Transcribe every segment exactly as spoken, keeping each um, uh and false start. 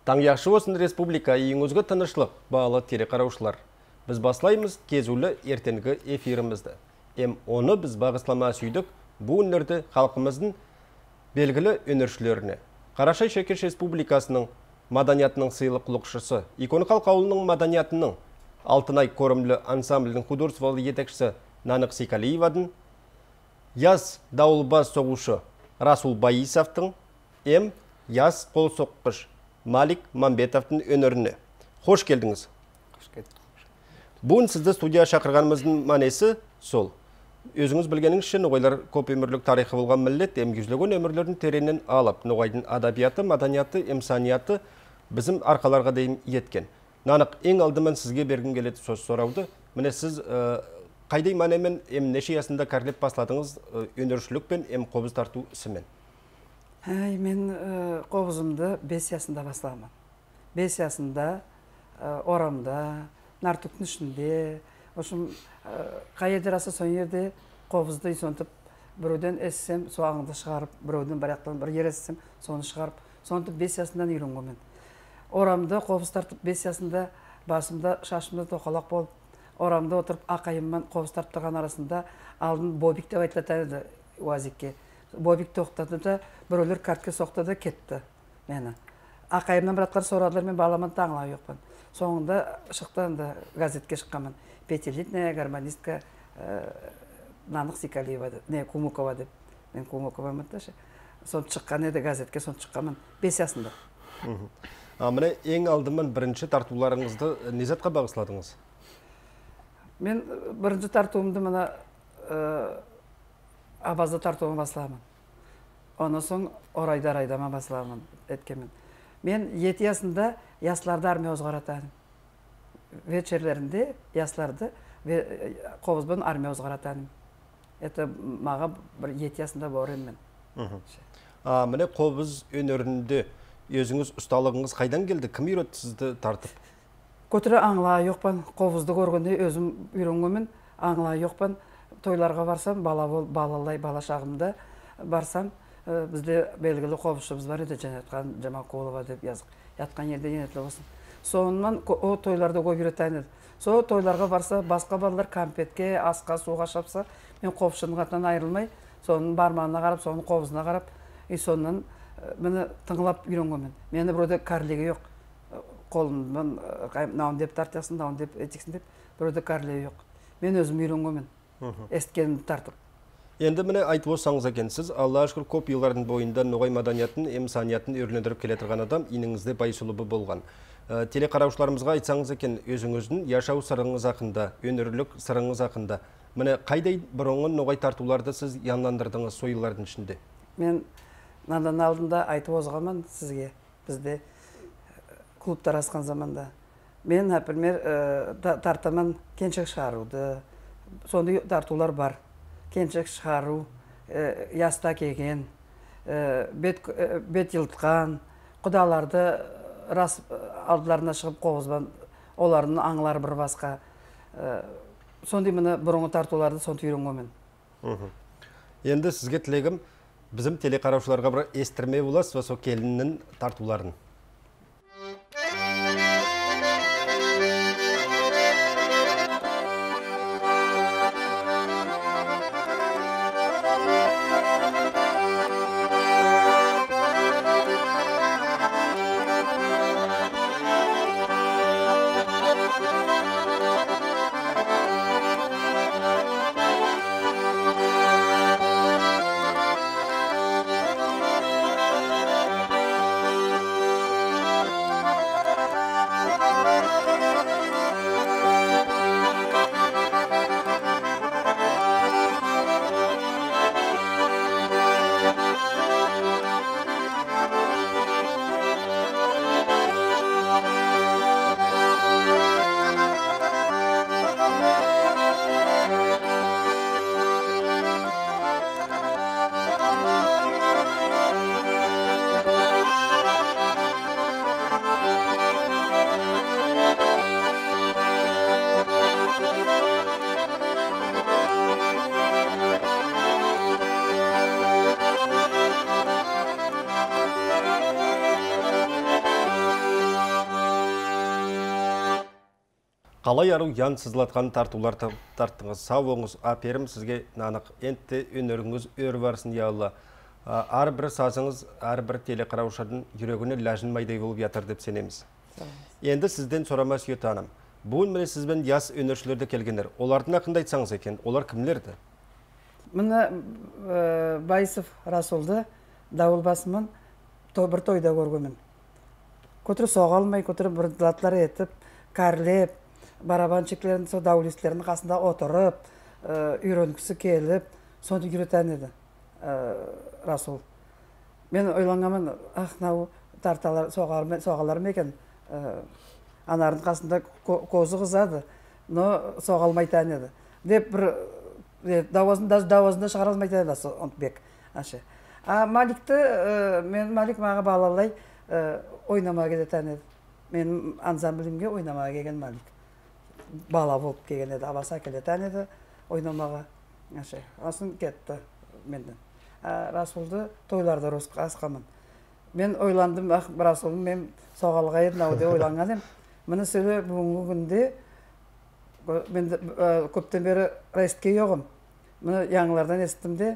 Таң яқшы болсын республика, үйіңізге тынышлық, бағалы тере қараушылар. Біз баслаймыз кезулі ертеңгі эфирімізді. Эм оны біз бағыслама сүйдік, бұл үнлерді халқымыздың белгілі өнершілеріне. Қарашай Шекеш Республикасының маданиятының сыйлық құлықшысы, икон халық ауылының маданиятының Алтынай көрімлі ансамблінің художестволы етекшісі Нанық Секалиеваның, яз дауылбаз соғушы Расул Баисовтың, эм яз қол соққыш Малик Мамбетовтың өнеріне. Хош келдіңіз. Бүгін сізді студия шақырғанымыздың мәнесі сол. Өзіңіз білгеніңіз үшін ноғайлар көп өмірлік тарихы болған міллет, емгізілген өмірлердің теренен алып, ноғайдың адабияты, маданияты, эмсанияты біздің арқаларға дейін еткен. Нанық, ең алдымен сізге бергім келеді сөз сұрауды. Міне сіз қайдай мәнемен ем неше ясында кәрлеп басладыңыз өнершілік пен ем қобыз тарту ісімен? Мен қобызымды бес ясында басламын. Бес ясында орамда, нартүктің ішінде, ошым қай едер аса сон ерде қобызды сонтып, біреуден эссем, соғыңды шығарып, біреуден баряқтан бір ер эссем, соны шығарып, сонтып бес ясындан үйренгенмін. Орамда қобыз тартып бес ясында басымда, шашымда тоқалақ болып, орамда отырып ақайыммен қобыз тартып тұрған арасында алдын бобик деп айтылады уазикке. Бобик тоқтады да, біреулер картке соқты да кетті мені. Ақайымнан біратқар сорадылар, мен баламан таңлау жоқпын. Соңында шықтан да газетке шыққанмын. Пятилетняя гармонистка Нанық Секалиева, не, Кумукова деп. Мен Кумукова мұтташы. Сон шыққан еді газетке, сон шыққанмын. Бес ясында. Міне ең алдымен бірінші тартуларыңызды не затқа бағысладыңыз? Мен бірінші тартуымды мына абазды тартуыма басыламын. Оны соң орайдар айдама басыламын еткенмін. Мен еті ясында ясларды армия озғаратадым. Вечерлерінде ясларды қобызбен армия озғаратадым. Это маға бір еті ясында борым мен. Міне қобыз өнерінде өзіңіз ұсталығыңыз қайдан келді? Кім үйретті сізді тартып? Көтірі аңла жоқпан. Қобызды көргенде өзім үйренгенмін. Аңла жоқпан. Тойларға барсам, балалай, бала шағымда барсам, бізде белгілі қобызшымыз бар еді, Жанатқан Жамақолова деп yazық. Ятқан ерде енетлі болсын. Соңынан о тойларды көп үйреткен еді. Со тойларға барса, басқа балалар кампетке, асқа, суға шапса, мен қобызшының атынан айырылмай, соның бармағына қарап, соның қобызына қарап, и сонынан мені тыңлап үйренгенмін. Мені біреуде кәрлігі жоқ. Қолымдан науын деп тартясын, науын деп етексін деп, біреуде кәрлігі жоқ. Мен өзім үйренгенмін. Есткенімді тартып. Енді міне айтып осаңыз екенсіз, Алла шүкір көп еллардың бойында ноғай маданиятын, эмсаниятын өрлендіріп келе тұрған адам иніңізде байсулыбы болған. Телекараушыларымызға айтсаңыз екен, өзіңіздің яшау сырыңыз ақында, өнерлік сырыңыз ақында. Міне қайдай бұрынғы ноғай тартуларды сіз янландырдыңыз сойылардың ішінде? Мен надан алдында айтып озғаман сізге, бізде клубтар асқан заманда. Мен, например, тартаман кеншек шығаруды, сондай тартулар бар. Кеншек шығару, яста кеген, бет елтқан, құдаларды рас алдыларына шығып қобызбан, олардың аңлары бір басқа. Сондай мені бұрынғы тартуларды сондай үйренгенмін. Енді сізге тілегім, біздің телекараушыларға бір естірме боласыз, сол келіннің тартуларын. Қалай ару ян сызылатқан тартулар тарттыңыз, сау оңыз, аперім сізге нанық, әнтті өнеріңіз өр барсын, я Алла. Ар бір сазыңыз, ар бір телекараушардың жүрегіне ләжін майдай болып ятыр деп сенеміз. Енді сізден сұрама Сүйет ханым. Бүгін міне сізбен яс өнершілерді келгендер. Олардың ақында айтсаңыз екен, олар кімлерді? Мына Байсов Расулды дауыл басымын бір тойда көргенмін. Көтірі соғалмай, көтірі бір дылатлар етіп, кәрлеп, барабанчиклерін, со даулистлерінің қасында отырып, үйренгісі келіп, соны үйретен еді Расул. Мен ойланғамын, ах, нау тарталар, соғалар ма екен, анардың қасында көзі қызады, но соғалмайтан еді. Деп бір дауазында шығаралмайтан еді Онтбек. А Маликті, мен Малик маға балалай ойнамаға кететен еді. Мен ансамблімге ойнамаға келген Малик. Бала болып келген еді, абаса келетен еді ойнамаға. Асын кетті менден. Расулды тойларды асқамын. Мен ойландым, Расулым, мен соғалға едін ауды ойланған ем. Мұны сөйлі бүгінгі күнде мен көптен бері рейстке еғым. Мұны яңылардан естімде,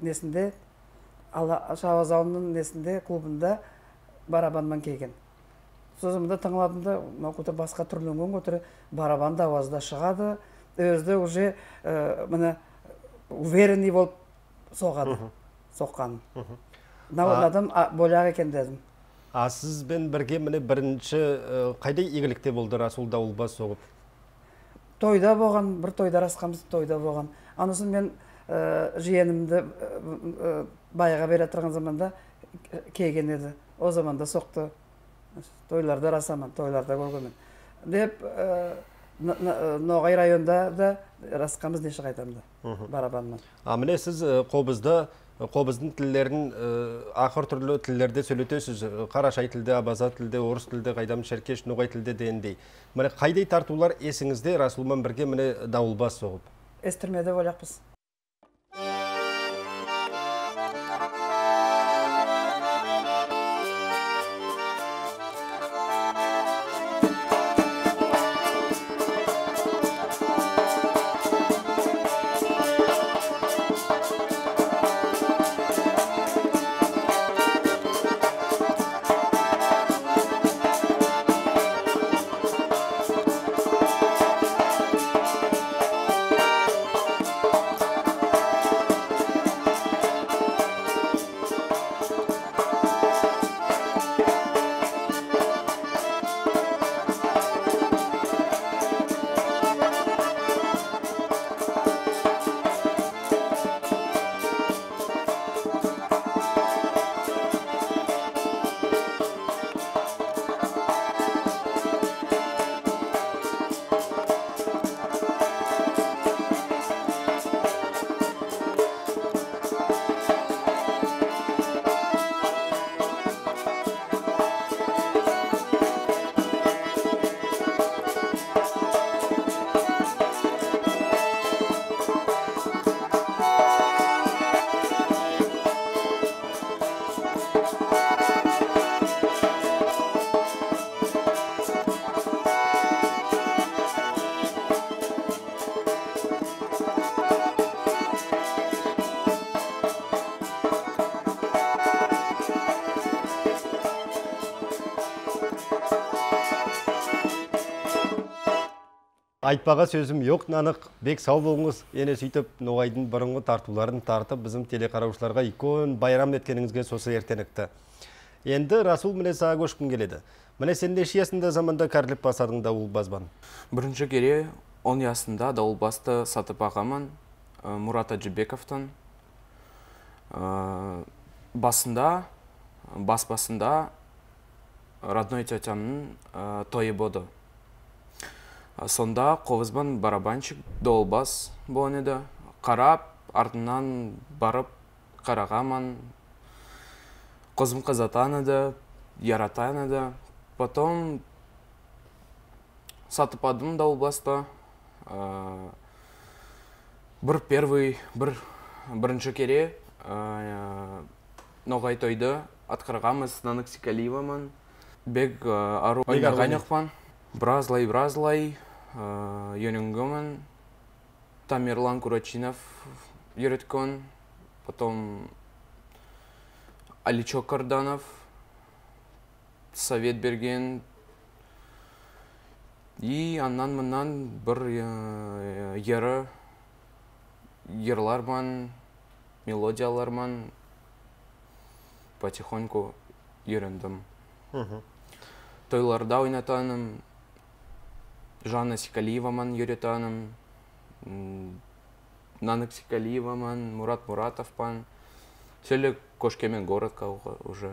несінде, Шавазауының несінде, клубында барабанман келген. Сөзімді таңладымда, көтір басқа түрленген көтірі барабан да ауазда шығады. Өзді уже уверенный болып соғады, соққанын. Адам боляқ екен дедім. А сізбен бірге міне бірінші қайдай игілікте болды Расул дауылбас соғып? Тойда болған, бір тойда расқамыз тойда болған. Анысын мен жиенімді байға бере тұрған заманда келген еді. О заманда соқты. Тойларда расаман, тойларда көргенмін. Деп, Ноғай районда да расқамыз неше қайтамды барабаннан. А міне сіз қобызда Қобыздың тілдерін ақыр түрлі тілдерде сөйлетесіз. Қарашай тілде, абаза тілде, орыс тілде, қайдам шеркеш, ноғай тілде дейіндей. Міне қайдай тартулар есіңізде Расулмен бірге міне дауылбас соғып? Естірмеде ойлақпыз. Айтпаға сөзім yok, нанық, бек сау болыңыз. Ене сөйтіп, Ноғайдың бұрынғы тартуларын тартып, біздің телекараушыларға икон байрам еткеніңізге сосы ертенікті. Енді Расул міне саға көшкін келеді. Міне сен неше ясында заманда кәрліп басадың дауылбазбан? Бірінші кере он ясында дауылбасты сатып ағамын Мурат Аджибековтан. Басында, бас басында родной тетямның тойы боды. Сонда қобызбан барабанчик дауылбас болған еді. Қарап, артынан барып қарағаман. Қозым қызатан еді, яратан еді. Потом сатып адым дауылбасты. Бір первый, бір бірінші кере Ноғай тойды атқарғамыз Нанық Секалиеваман. Бек ару ойнағанықпан. Бразлай, бразлай, үйренгенмін. Тамерлан Курачинов үйреткен. Потом Аличок Карданов совет берген. И аннан мыннан бір ері, ерларман, мелодияларман потихоньку үйрендім. Тойларда ойнатаным, Жанна Сикалиеваман үйретаным, Нанық Сикалиеваман, Мурат Муратовпан. Сөйлі Кошкемен городқа уже.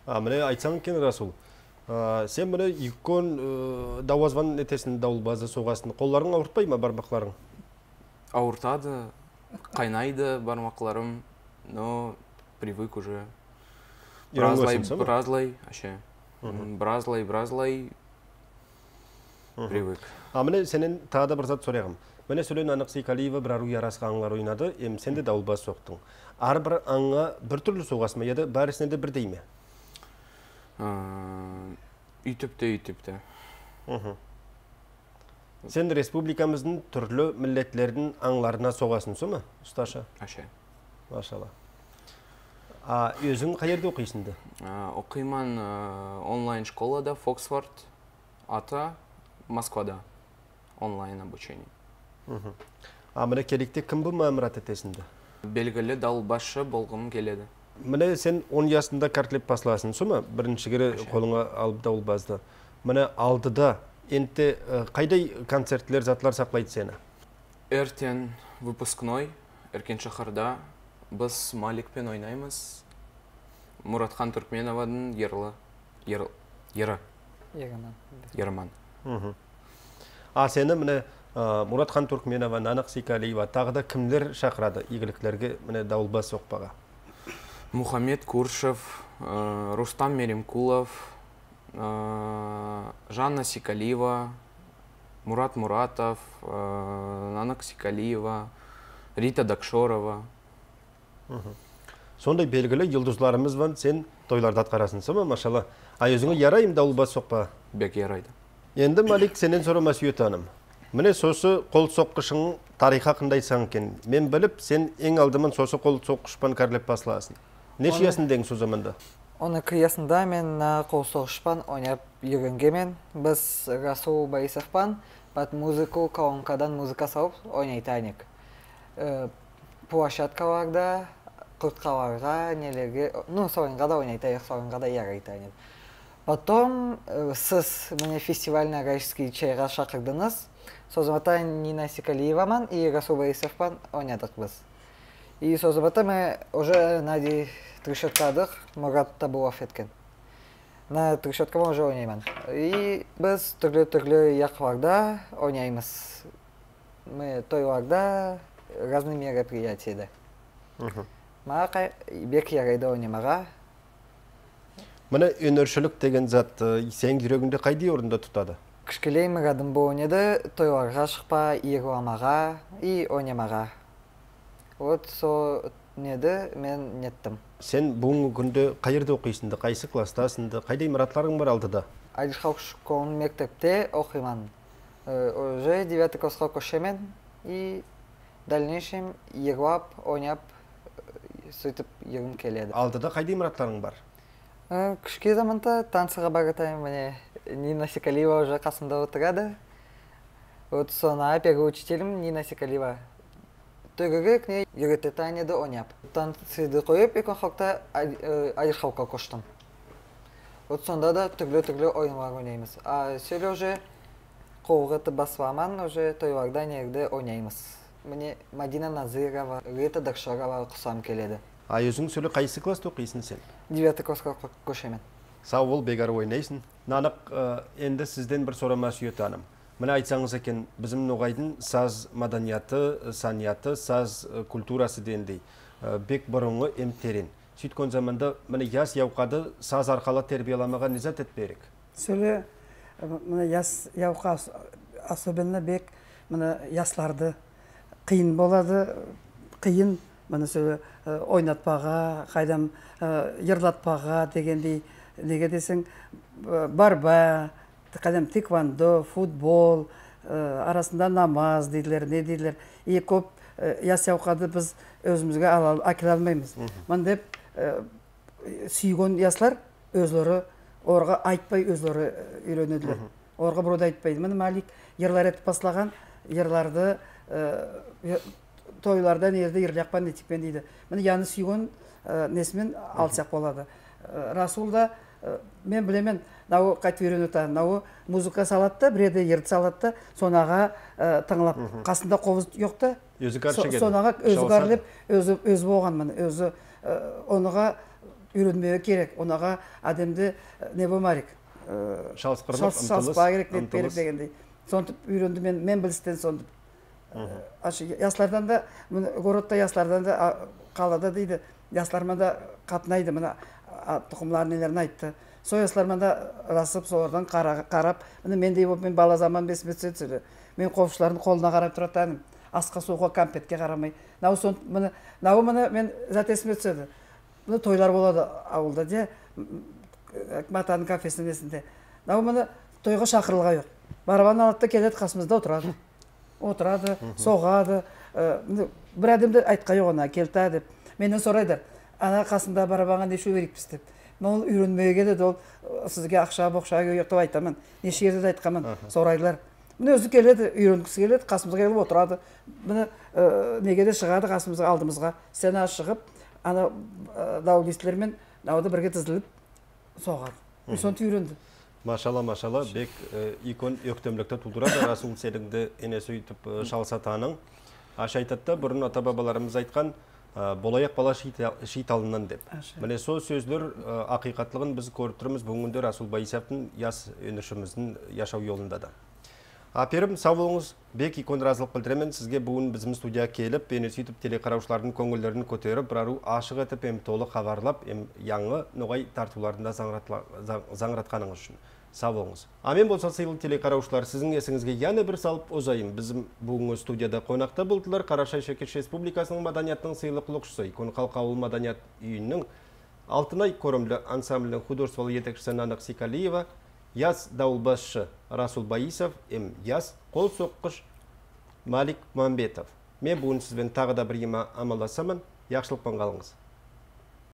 А, міне айтсаң кен Расул. Сен міне үйкон дауазван етесін даулбазы соғасын. Қолларың ауыртпай ма бармақларың? Ауыртады, қайнайды бармақларым, но привык уже. Бразлай, бразлай, аще. Бразлай, бразлай, привык. А, міне сенен тағы да бір зат сұрағым. Міне сөйлен Анық Сикалиева бір ару ярасқа аңлар ойнады, ем сен де даулбаз соқтың. Ар бір аңға бір түрлі соғасың ма, еді бәрісіне де бір дей ме? Үйтіпті, үйтіпті. Сен республикамыздың түрлі миллетлердің аңларына соғасын со ма, ұсташа? Аще. Машалла. А өзің қай жерде оқисыңды? Оқиман онлайн школада, Фоксфорд, ата, Москвада. Онлайн обучение. А міне керекте кім бұл мамырат етесіңді? Белгілі даулбашы болғым келеді. Міне сен он ясында картлеп басыласың, со ма? Бірінші кері қолыңа алып даулбазды. Міне алдыда, енті қайдай концертлер, затлар сақлайды сені? Эртен выпускной, Эркен шақырда, біз Маликпен ойнаймыз. Мұратхан Түркменовадың ерлі, ері, Ерман. А сені міне Мұратхан Түркменова, Нанық Сикалиева, тағы да кімдер шақырады игіліктерге міне даулбаз соқпаға? Мухаммед Куршев, Рустам Меремкулов, Жанна Сикалиева, Мурат Муратов, Нанық Сикалиева, Рита Дакшорова. Сондай белгілі йылдызларымыз бар, сен тойларда атқарасың, сома, машалла. А өзіңе ярайым даулбаз соқпа? Бек ярайды. Енді Малик сенен сұрама сүйетаным. Міне сосы қол соққышың тариха қындай кен. Мен біліп, сен ең алдымын сосы қол соққышпан кәрлеп басыласын. Не шиясын дең со заманда? Оны қиясында мен қол соққышпан ойнап үйренгенмен. Біз Расул Борисовпан бат музыку колонкадан музыка салып ойнайтайнек. Площадкаларда, құртқаларға, нелерге, ну, соғынға да ойнайтайық, соғынға да ярайтайнек. Потом сіз міне фестивальна Райский чайға шақырдыңыз. Созымата Нина Сикалиеваман и Расул Борисовпан ойнадық біз. И созымата мы уже нади трещоткадық Мурат Табулов еткен. На трещоткама уже ойнайман. И біз түрлі-түрлі яқларда ойнаймыз. Мы тойларда разные мероприятияда. Маға бек ярайды ойнамаға. Міне өнершілік деген зат сен жүрегіңде қайдай орында тұтады? Кішкелей мұрадым бұл ойнеді, тойларға шықпа, иеғыламаға и ойнамаға. Вот со неді мен неттім. Сен бүгінгі күнде қайырды оқисыңды, қайсы кластасыңды, қайдай мұратларың бар алдыда? Айдышқалық школын мектепте оқиман. Уже девятый классқа көшемен и дальнейшем иеғылап, ойнап, сөйтіп егім келеді. Алдыда қайдай мұратларың бар? Күшке заманда танцыға баратайым, міне Нина Сикалиева уже қасымда отырады. Вот сона первый учителім Нина Сикалиева. Төрігік не үйрететін еді ойнап. Танцыды қойып, екін халықта айырқауқа көштім. Вот сонда да түрлі-түрлі ойынлар ойнаймыз. А сөйлі уже қолғыты басыламан, уже тойларда нерді ойнаймыз. Міне Мадина Назирова, Рита Дакшорова құсам келеді. А өзің сөйлі қайсы класты оқисың сен? девятый классқа көшемен. Сау бол, бегар ойнайсың. Нанық, енді сізден бір сұрама сүйетаным. Міне айтсаңыз екен, біздің ноғайдың саз маданияты, санияты, саз культурасы дендей. Бек бұрынғы емтерен. Сөйткөн заманда міне яс яуқады саз арқалы тербияламаға низат етперек. Сөйле, міне яс яуқа особенно бек міне ясларды қиын болады, қиын. Міне сөйле ойнатпаға, қайдам ерлатпаға дегендей неге десең барба, кәдім тиквандо, футбол, арасында намаз дейділер, не дейділер. И көп яс яуқады біз өзімізге әкеле алмаймыз. Мен деп сүйген яслар өзлері орға айтпай өзлері үйренеділер. Орға бұрода айтпайды. Мен Малик ерлар етіп баслаған, ерларды тойлардан ерді ерлияқпан нетікпен дейді. Мен яны сүйген несімен алсақ болады. Расул да мен білемен, нау қайтып үйренуті, нау музыка салатты, біреде ерді салатты, сонаға тыңлап, қасында қобыз жоқты, сонаға өзі қарлеп, өзі болған мен, өзі оныға үйренмеуі керек, оныға әдемді не болмарик, шалыспа керек, нет берік дегендей. Сонтып үйренді мен, мен білістен сонтып. Яслардан да, городта яслардан да қалада дейді, яслармен да қатынайды, мына тұқымларын нелерін айтты. Сол яслармен да расып, солардан қарап, мендей болып, мен бала заман бесіме түседі. Мен қопшылардың қолына қарап тұратаным, асқа суға кампетке қарамай. Нау мұны мен зат есіме түседі. Мұны тойлар болады ауылда, де, матаның кафесінің есінде. Нау мұны тойға шақырылға жоқ. Барабан алатта келеді, қасымызда отырады. Отырады, соғады. Бір әдемді айтқа жоқ ona, келті деп. Менен сорайдар, ана қасында барабанға неше берікпіз деп. Мен үйренмеге келеді, ол сізге ақша, боқша өйіқтіп айтамын. Неше ерді де айтқамын, сорайлар. Мен өзі келеді, үйренгісі келеді, қасымызға келіп отырады. Мені неге де шығады қасымызға, алдымызға. Сцена шығып, ана даулистілермен дауды бірге тізіліп соғады. Сонты үйренді. Машалла, машалла, бек икон өктемлікті тұлдырады. Расул селіңді енесі үйтіп шалсатаның. Аша айтатта, бұрын ата-бабаларымыз айтқан, болаяқ бала шейталынан деп. Міне сол сөздер ақиқатлығын біз көріп тұрмыз бүгінде Расул Байисовтың яс өнішіміздің яшау yolunda да. Аперім, сау болыңыз, бек икон разылық білдіремен сізге бүгін біздің студия келіп, бені сөйтіп телекараушылардың көңілдерін көтеріп, бірару ашық етіп, ем толы хабарлап, ем яңы ноғай тартуларында заңыратқаныңыз үшін. Сау болыңыз. Амен болса сыйлы телекараушылар, сіздің есіңізге яны бір салып озайым. Bizim бүгінгі студияда қонақта болдылар. Қарашай Шекеш Республикасының маданияттың сыйлы құлықшысы, икон қалқа ауыл маданият үйінің Алтынай көрімлі ансамблінің художестволы етекшісі Нанық Сикалиева, яз дауылбасшы Расул Байисов, ем яз қол соққыш Малик Мамбетов. Мен бүгін сізбен тағы да бір ема амаласамын. Яқшылықпен қалыңыз.